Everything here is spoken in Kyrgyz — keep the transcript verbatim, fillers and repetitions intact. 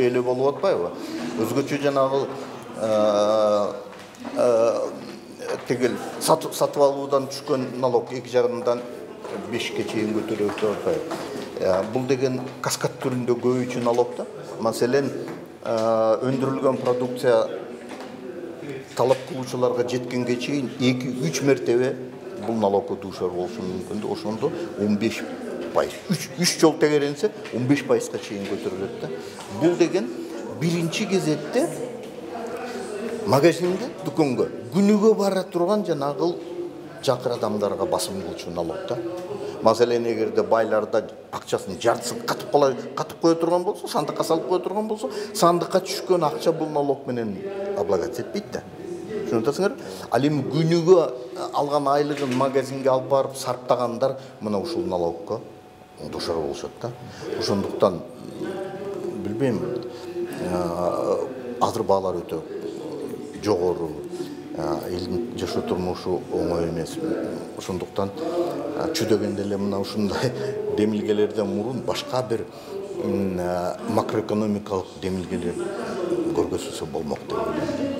эле болуп атпайбы? Өзгөчө жанагы тегил сатып алуудан түшкөн налог эки жагынан бешке чейин көтөрүлүп атпайбы? Бул деген каскад түрүндө көбүйчү налог да. Маселен, өндүрүлгөн продукция талап кылуучуларга жеткенге чейин эки үч мертебе бул налогко дуушар болушу мүмкүн. Ошондо он беш пайыз. үч жол тегеренсе он беш пайызга чейин көтөрүлөт да. Бул деген биринчи кезекте магазинге, дүкөнгө, күнүгө бара турган жанагы жакыр адамдарга басым кылчу налог да. Маселен, эгерде байларда акчасын жартысын катып кала катып кое турган болсо, сандыкка салып кое турган болсо, сандыкка түшкөн акча бул налог менен облагаться этпейт да. Шуну атасыңар? Ал эми күнүгө алган айлыгын магазинге алып барып сарптагандар мына ушул налогко дуушар болушат да. Ошондуктан билбейм, азыр баалар өтө жогору, элдин жашоо турмушу оңой эмес. Ошондуктан чүдөгөндө эле мына ушундай демилгелерден мурун башка бир макроэкономикалык демилгелер көргөзүлсө болмок деп ойлойм.